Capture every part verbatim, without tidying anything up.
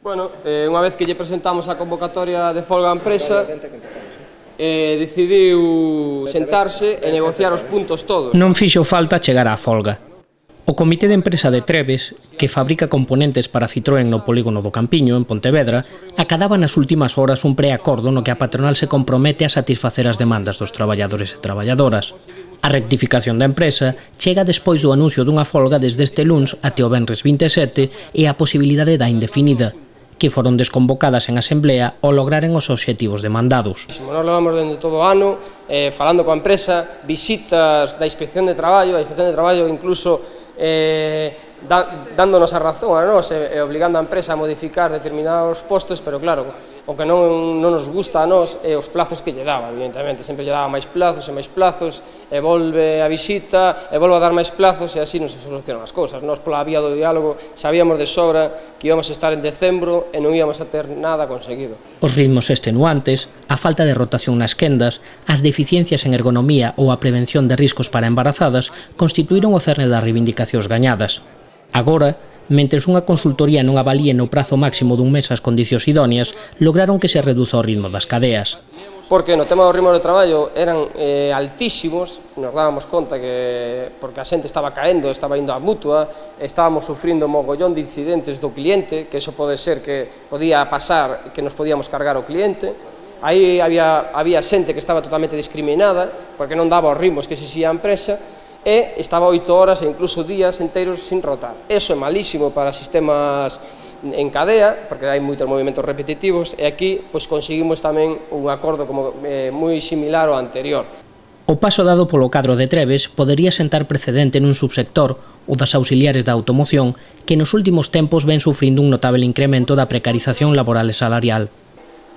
Bueno, eh, unha vez que lle presentamos a convocatoria de folga á empresa, eh, decidiu sentarse e negociar os puntos todos. Non fixo falta chegar á folga. O Comité de Empresa de Trebes, que fabrica componentes para Citroën no polígono do Campiño, en Pontevedra, acadaba nas últimas horas un preacordo no que a patronal se compromete a satisfacer as demandas dos traballadores e traballadoras. A rectificación da empresa chega despois do anuncio dunha folga desde este luns até o venres vinte e sete e a posibilidade da indefinida, que foron desconvocadas en asemblea ao lograren os obxectivos demandados. Nos levamos dende todo o ano, eh, falando coa empresa, visitas da Inspección de Traballo, a Inspección de Traballo incluso eh, da, dándonos a razón a nós e, e obligando a empresa a modificar determinados postos, pero claro, o que non, non nos gusta a nós é os plazos que lle daba, evidentemente, sempre lle daba máis plazos e máis plazos, e volve a visita, e volve a dar máis plazos, e así non se solucionan as cousas. Nós, pola vía do diálogo, sabíamos de sobra que íbamos a estar en decembro e non íbamos a ter nada conseguido. Os ritmos extenuantes, a falta de rotación nas quendas, as deficiencias en ergonomía ou a prevención de riscos para embarazadas constituíron o cerne das reivindicacións gañadas. Agora, mentres unha consultoría non avalíe no prazo máximo dun mes as condicións idóneas, lograron que se reduza o ritmo das cadeas. Porque no tema do ritmo de traballo eran eh, altísimos, nos dábamos conta que porque a xente estaba caendo, estaba indo á mutua, estábamos sufrindo mogollón de incidentes do cliente, que eso pode ser que podía pasar, que nos podíamos cargar o cliente. Aí había, había xente que estaba totalmente discriminada, porque non daba os ritmos que exixía a empresa, e estaba oito horas e incluso días enteiros sin rotar. Eso é malísimo para sistemas en cadea, porque hai moitos movimentos repetitivos, e aquí pois, conseguimos tamén un acordo como, eh, moi similar ao anterior. O paso dado polo cadro de Trebes podería sentar precedente nun subsector, o das auxiliares da automoción, que nos últimos tempos ven sufrindo un notable incremento da precarización laboral e salarial.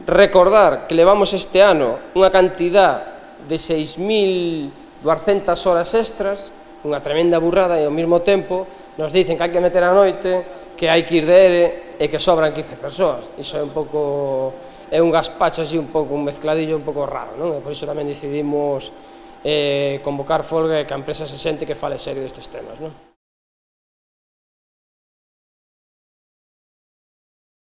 Recordar que levamos este ano unha cantidad de seis mil duascentas horas extras, unha tremenda burrada, e ao mesmo tempo nos dicen que hai que meter a noite, que hai que ir de ere e que sobran quince persoas. Iso é un pouco, é un gaspacho así, un pouco, un mezcladillo un pouco raro, non? E por iso tamén decidimos eh, convocar folga e que a empresa se sente que fale serio destes temas, non?